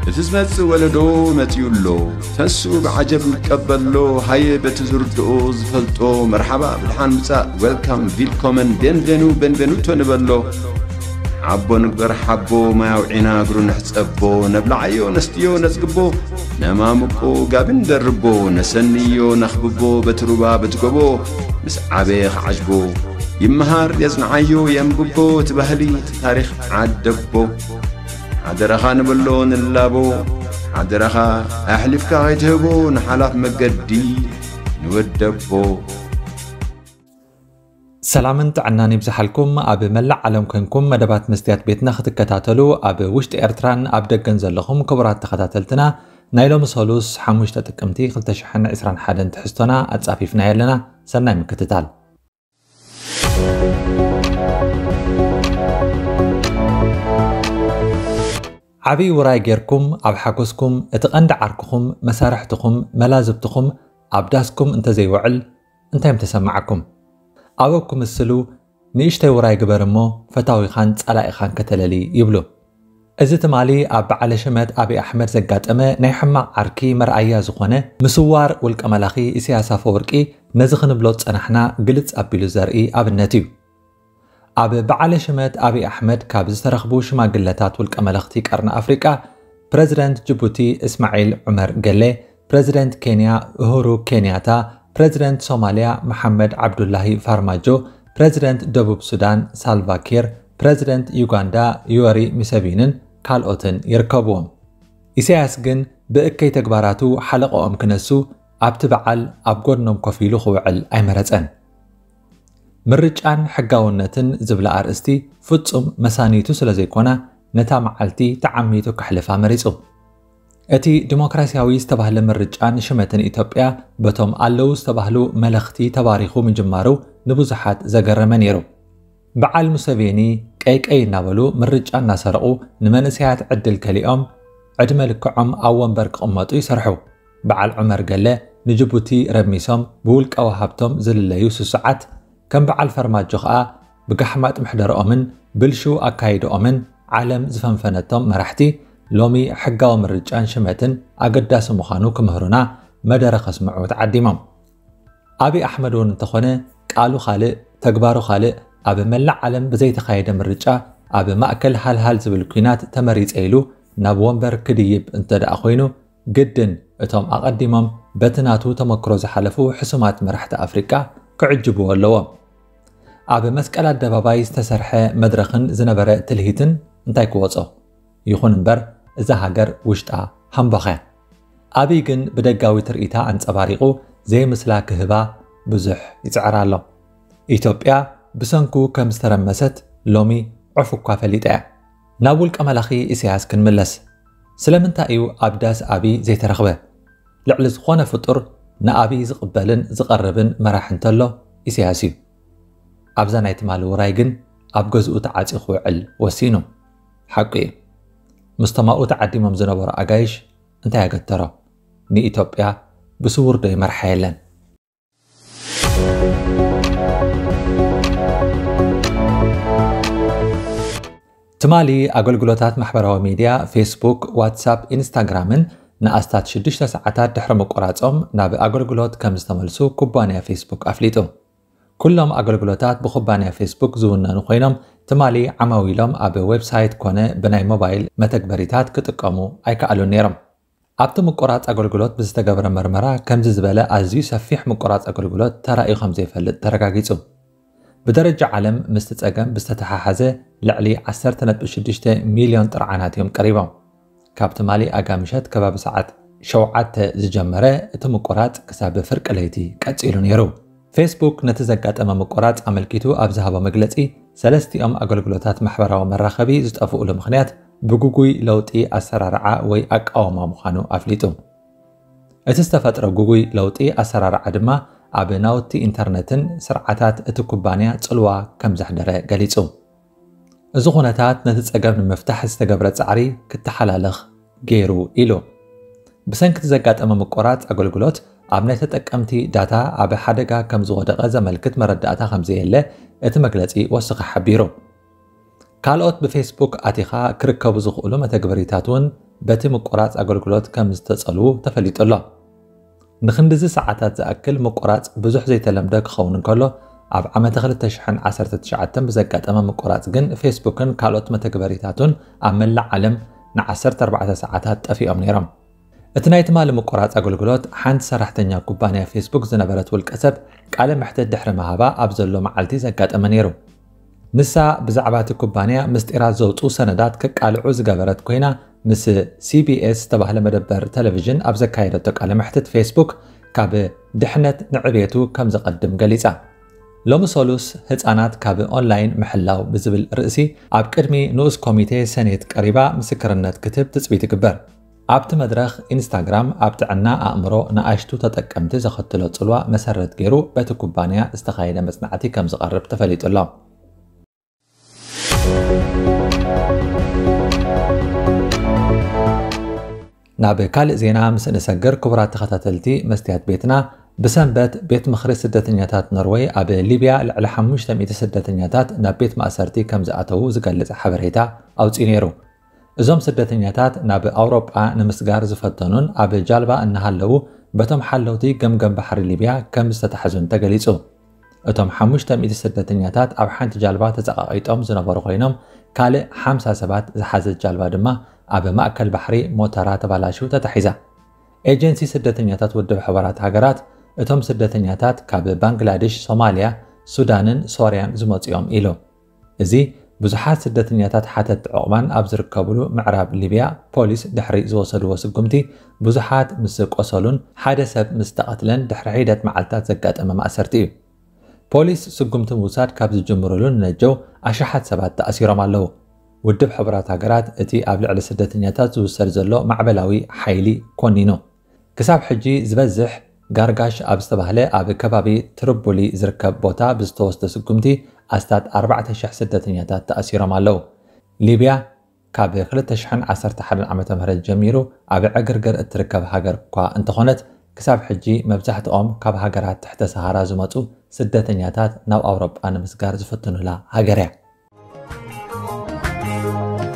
እቲ ዝመጽእ ወለዶ መጺኡ ኣሎ። ተንስኡ ብዓጀብ ንቀበሎ። ሃየ በቲ ዝርድኦ ዝፈልጦ መርሓባ ብድሓን ምጻእ፣ ዌልካም፣ ቪልኮመን፣ ቤንቬኑ፣ ቤንቬኑቶ ንበሎ። ሓቦ ንግበር ሓቦ፣ ማይ ኣውዒና እግሩ ንሕጸቦ። ነብልዓዮ ነስትዮ ነጽግቦ፣ ነማምቆ ጋቢ ንደርቦ። ነሰንዮ ነኽብቦ በቲ ሩባ በቲ ጎቦ። ምስ ዓበየ ክዓጅቦ ይመሃር የጽንዓዮ የንብቦ። እቲ ባህሊ እቲ ታሪኽ ዓደቦ። ሓደራኻ ንበሎ ንላቦ። ሓደራኻ ኣሕሊፍካ ከይትህቦ ንሓላፍ መገዲ ንወደቦ። ሰላምን ጥዕናን ይብዝሓልኩም። ኣብ መላእ ዓለም ኮንኩም መደባት መስትያት ቤትና ክትከታተሉ ኣብ ውሽጢ ኤርትራን ኣብ ደገን ዘለኹም ክቡራት ተኸታተልትና ናይ ሎሚ ሰሉስ ሓሙሽተ ጥቅምቲ ክልተ ሽሕን ዕስራን ሓደን ትሕዝቶና ኣጻፊፍናዮ ኣለና። ሰናይ ምክትታል። ዓብዪ ውራይ ጌርኩም ኣብ ሓጎስኩም እቲ ቀንዲ ዓርክኹም፣ መሳርሕትኹም፣ መላዝብትኹም ኣብ ዳስኩም እንተዘይውዕል እንታይ ምተሰማዓኩም? ኣበው ክምስሉ ንእሽተይ ውራይ ግበር እሞ ፈታዊኻን ጸላኢኻን ከተለሊ ይብሉ። እዚ ትማሊ ኣብ በዓለ ሽመት ኣብይ ኣሕመድ ዘጋጠመ ናይ ሕማቕ ዓርኪ መርኣያ ዝኾነ ምስዋር ውልቀ መላኺ ኢሳያስ ኣፈወርቂ ነዚ ክንብሎ ዝጸናሕና ግልጽ ኣቢሉ ዘርኢ ኣብነት እዩ። ኣብ በዓለ ሽመት ኣብይ ኣሕመድ ካብ ዝተረኽቡ ሽማግለታት ውልቀ መለኽቲ ቀርኒ ኣፍሪቃ ፕረዚደንት ጅቡቲ እስማዒል ዑመር ገሌ፣ ፕረዚደንት ኬንያ ኡሁሩ ኬንያታ፣ ፕረዚደንት ሶማልያ መሓመድ ዓብዱላሂ ፋርማጆ፣ ፕረዚደንት ደቡብ ሱዳን ሳልቫ ኪር፣ ፕረዚደንት ዩጋንዳ ዮወሪ ሙሰቪንን ካልኦትን ይርከብዎም። ኢሳያስ ግን ብእከይ ተግባራቱ ሓለቐኦም ክነሱ ኣብቲ በዓል ኣብ ጎድኖም ኮፍ ኢሉ ክውዕል ኣይመረጸን። ምርጫን ሕጋውነትን ዝብላ ኣርእስቲ ፍጹም መሳኒቱ ስለ ዘይኮና ነታ መዓልቲ ተዓሚቱ ከሕልፋ መሪጹ። እቲ ዲሞክራሲያዊ ዝተባህለ ምርጫን ሽመትን ኢትዮጵያ በቶም ኣለዉ ዝተባህሉ መለኽቲ ተባሪኹ ምጅማሩ ንብዙሓት ዘገረመ ነይሩ። በዓል ሙሰቬኒ ቀይ ቀይ እናበሉ ምርጫ እናሰረቑ ንመንእሰያት ዕድል ከሊኦም ዕድመ ልክዖም ኣብ ወንበር ክቕመጡ ይሰርሑ። በዓል ዑመር ገለ ንጅቡቲ ረሚሶም ብውልቃዊ ሃብቶም ዝልለዩ ስሱዓት ከም በዓል ፈርማጆ ኸኣ ብጋሕማጥ ምሕደርኦምን ብልሹው ኣካይድኦምን ዓለም ዝፈንፈነቶም መራሕቲ ሎሚ ሕጋዊ ምርጫን ሽመትን ኣገዳሲ ምዃኑ ክምህሩና መደረ ከስምዑ ተዓዲሞም። ኣብይ ኣሕመድ እውን እንተኾነ ቃሉ ካልእ ተግባሩ ካልእ ኣብ መላእ ዓለም ብዘይተኻየደ ምርጫ ኣብ ማእከል ሃልሃል ዝብል ኲናት ተመሪጸ ኢሉ ናብ ወንበር ክድይብ እንተ ደኣ ኮይኑ ግድን እቶም ኣቐዲሞም በቲ ናቱ ተመክሮ ዝሓለፉ ሕሱማት መራሕቲ ኣፍሪቃ ክዕጅብዎ ኣለዎም። ኣብ መስቀል ኣደባባይ ዝተሰርሐ መድረኽን ዝነበረ ትልሂትን እንታይ ክወጾ? ይኹን እምበር እዛ ሃገር ውሽጣ ሃምባኽ እያ። ኣብይ ግን ብደጋዊ ትርኢታ ኣንጸባሪቑ ዘይምስላ ክህባ ብዙሕ ይጽዕር ኣሎ። ኢትዮጵያ ብሰንኩ ከም ዝተረመሰት ሎሚ ዑፍ እኳ ፈሊጣ እያ። ናብ ውልቀ መላኺ ኢሳያስ ክንምለስ። ስለምንታይ እዩ ኣብ ዳስ ኣብይ ዘይተረኽበ? ልዕሊ ዝኾነ ፍጡር ንኣብይ ዝቕበልን ዝቐርብን መራሒ እንተሎ ኢሳያስ እዩ። ኣብዛ ናይ ትማሊ ውራይ ግን ኣብ ገዝኡ ተዓጽዩ ክውዕል ወሲኑ። ሓቁ እዩ። ምስቶም ኣብኡ ተዓዲሞም ዝነበሩ ኣጋይሽ እንታይ ኣገተሮ? ንኢትዮጵያ ብስውር ዶ ይመርሓ የለን? ትማሊ ኣገልግሎታት ማሕበራዊ ሚድያ ፌስቡክ፣ ዋትሳፕ፣ ኢንስታግራምን ንኣስታት ሽዱሽተ ሰዓታት ድሕሪ ምቁራጾም ናብ ኣገልግሎት ከም ዝተመልሱ ኩባንያ ፌስቡክ ኣፍሊጡ። ኩሎም ኣገልግሎታት ብኩባንያ ፌስቡክ ዝውነኑ ኮይኖም ትማሊ ዓማዊሎም ኣብ ዌብሳይት ኮነ ብናይ ሞባይል መተግበሪታት ክጥቀሙ ኣይከኣሉን ነይሮም። ኣብቲ ምቁራጽ ኣገልግሎት ብዝተገብረ መርመራ ከምዚ ዝበለ ኣዝዩ ሰፊሕ ምቁራጽ ኣገልግሎት ተራእዩ ከም ዘይፈልጥ ተረጋጊጹ። ብደረጃ ዓለም ምስቲ ጸገም ብዝተተሓሓዘ ልዕሊ ዓሰርተ ነጥቢ ሽዱሽተ ሚልዮን ጥርዓናት እዮም ቀሪቦም። ካብ ትማሊ ኣጋ ምሸት ከባቢ ሰዓት ሸውዓተ ዝጀመረ እቲ ምቁራጽ ክሳብ ፍርቂ ለይቲ ቀጺሉ ነይሩ። ፌስቡክ ነቲ ዘጋጠመ ምቁራጽ ኣመልኪቱ ኣብ ዝሃቦ መግለጺ ሰለስቲኦም ኣገልግሎታት ማሕበራዊ መራኸቢ ዝጠፍኡሉ ምኽንያት ብግጉይ ለውጢ ኣሰራርዓ ወይ ኣቃውማ ምዃኑ ኣፍሊጡ። እቲ ዝተፈጥረ ግጉይ ለውጢ ኣሰራርዓ ድማ ኣብ ናውቲ ኢንተርነትን ስርዓታት እቲ ኩባንያ ጽልዋ ከም ዘሕደረ ገሊጹ። እዚ ኩነታት ነቲ ጸገም ንምፍታሕ ዝተገብረ ጻዕሪ ክተሓላለኽ ገይሩ ኢሉ። ብሰንኪ እቲ ዘጋጠመ ምቁራጽ ኣገልግሎት ኣብ ናይ ተጠቀምቲ ዳታ ኣብ ሓደጋ ከም ዝወደቐ ዘመልክት መረዳእታ ከም ዘየለ እቲ መግለጺ ወሲኹ ሓቢሩ። ካልኦት ብፌስቡክ ኣቲኻ ክርከቡ ዝኽእሉ መተግበሪታት እውን በቲ ምቁራጽ ኣገልግሎት ከም ዝተጸልዉ ተፈሊጡ ኣሎ። ንክንድዚ ሰዓታት ዝኣክል ምቁራጽ ብዙሕ ዘይተለምደ ክኸውን እንከሎ፣ ኣብ ዓመተ ክልተ ሽሕን ዓሰርተ ትሽዓተን ብዘጋጠመ ምቁራጽ ግን ፌስቡክን ካልኦት መተግበሪታቱን ኣብ መላእ ዓለም ንዓሰርተ ኣርባዕተ ሰዓታት ጠፊኦም ነይሮም። እቲ ናይ ትማሊ ምቁራጽ ኣገልግሎት ሓንቲ ሰራሕተኛ ኩባንያ ፌስቡክ ዝነበረት ውልቀ ሰብ ቃለ መሕትት ድሕሪ ምሃባ ኣብ ዘሎ መዓልቲ ዘጋጠመ ነይሩ። ንሳ ብዛዕባ እቲ ኩባንያ ምስጢራት ዘውጽኡ ሰነዳት ክቃልዑ ዝገበረት ኮይና፣ ምስ ሲ ቢ ኤስ ዝተባህለ መደበር ቴሌቪዥን ኣብ ዘካየደቶ ቃለ መሕትት ፌስቡክ ካብ ድሕነት ንዕቤቱ ከም ዝቐድም ገሊጻ። ሎሚ ሰሉስ ህጻናት ካብ ኦንላይን ምሕላው ብዝብል ርእሲ ኣብ ቅድሚ ንኡስ ኮሚቴ ሰኔት ቀሪባ ምስክርነት ክትህብ ትጽቢት ይግበር። ኣብቲ መድረኽ ኢንስታግራም ኣብ ጥዕና ኣእምሮ ንኣሽቱ ተጠቀምቲ ዘኸትሎ ጽልዋ መሰረት ገይሩ በቲ ኩባንያ ዝተኻየደ መጽናዕቲ ከም ዝቐርብ ተፈሊጡ ኣሎ። ናብ ካልእ ዜና ምስ እንሰግር፣ ክቡራት ተኸታተልቲ መስትያት ቤትና፣ ብሰንበት ቤት ምኽሪ ስደተኛታት ኖርወይ ኣብ ሊብያ ልዕሊ ሓሙሽተ ሚእቲ ስደተኛታት ናብ ቤት ማእሰርቲ ከም ዝኣተዉ ዝገልጽ ሓበሬታ ኣውጺኡ ነይሩ። እዞም ስደተኛታት ናብ ኣውሮጳ ንምስጋር ዝፈተኑን ኣብ ጃልባ እናሃለዉ በቶም ሓለውቲ ገምገም ባሕሪ ሊብያ ከም ዝተታሕዙን ተገሊጹ። እቶም ሓሙሽተ ሚእቲ ስደተኛታት ኣብ ሓንቲ ጃልባ ተጸቓቒጦም ዝነበሩ ኮይኖም፣ ካልእ ሓምሳ ሰባት ዝሓዘት ጃልባ ድማ ኣብ ማእከል ባሕሪ ሞተራ ተባላሽዩ ተታሒዛ። ኤጀንሲ ስደተኛታት ውድብ ሕቡራት ሃገራት እቶም ስደተኛታት ካብ ባንግላዴሽ፣ ሶማልያ፣ ሱዳንን ሶርያን ዝመጹ እዮም ኢሉ። እዚ ብዙሓት ስደተኛታት ሓተት ዕቑባን ኣብ ዝርከብሉ ምዕራብ ሊብያ ፖሊስ ድሕሪ ዝወሰድዎ ስጉምቲ ብዙሓት ምስ ቆሰሉን ሓደ ሰብ ምስ ተቐትለን ድሕሪ ሒደት መዓልታት ዘጋጠመ ማእሰርቲ እዩ። ፖሊስ ስጉምቲ ምውሳድ ካብ ዝጅምርሉ ንነጀው ኣሽሓት ሰባት ተኣሲሮም ኣለዉ። ውድብ ሕቡራት ሃገራት እቲ ኣብ ልዕሊ ስደተኛታት ዝውሰድ ዘሎ ማዕበላዊ ሓይሊ ኮኒኑ። ክሳብ ሕጂ ዝበዝሕ ጋርጋሽ ኣብ ዝተባህለ ኣብ ከባቢ ትርቡሊ ዝርከብ ቦታ ብዝተወስደ ስጉምቲ ኣስታት ኣርባዕተ ሽሕ ስደተኛታት ተኣሲሮም ኣለዉ። ሊብያ ካብ ክልተ ሽሕን ዓሰርተ ሓደን ዓመተ ምህረት ጀሚሩ ኣብ ዕግርግር እትርከብ ሃገር እኳ እንተኾነት፣ ክሳብ ሕጂ መብዛሕትኦም ካብ ሃገራት ትሕተ ሰሃራ ዝመጹ ስደተኛታት ናብ ኣውሮጳ ንምስጋር ዝፍትኑላ ሃገር እያ።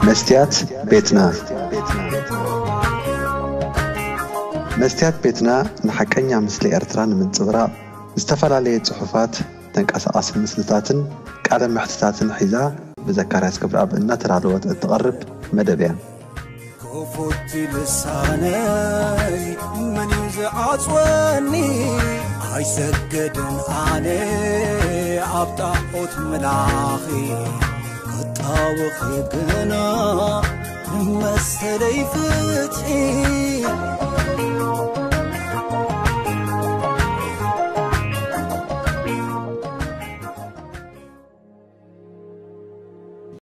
መስትያት ቤትና። መስትያት ቤትና ንሓቀኛ ምስሊ ኤርትራ ንምንጽብራቕ ዝተፈላለየ ጽሑፋት፣ ተንቀሳቓሲ ምስልታትን ቃለ መሕትታትን ሒዛ ብዘካርያስ ገብረኣብ እናተዳለወት እትቐርብ መደብ እያ። ክፉት ልሳነይ መን እዩ ዝዓጽወኒ? ኣይሰግድን ኣነ ኣብ ጣዖት ምላኺ ክጣወኺ ግና መሰለይ ፍትሒ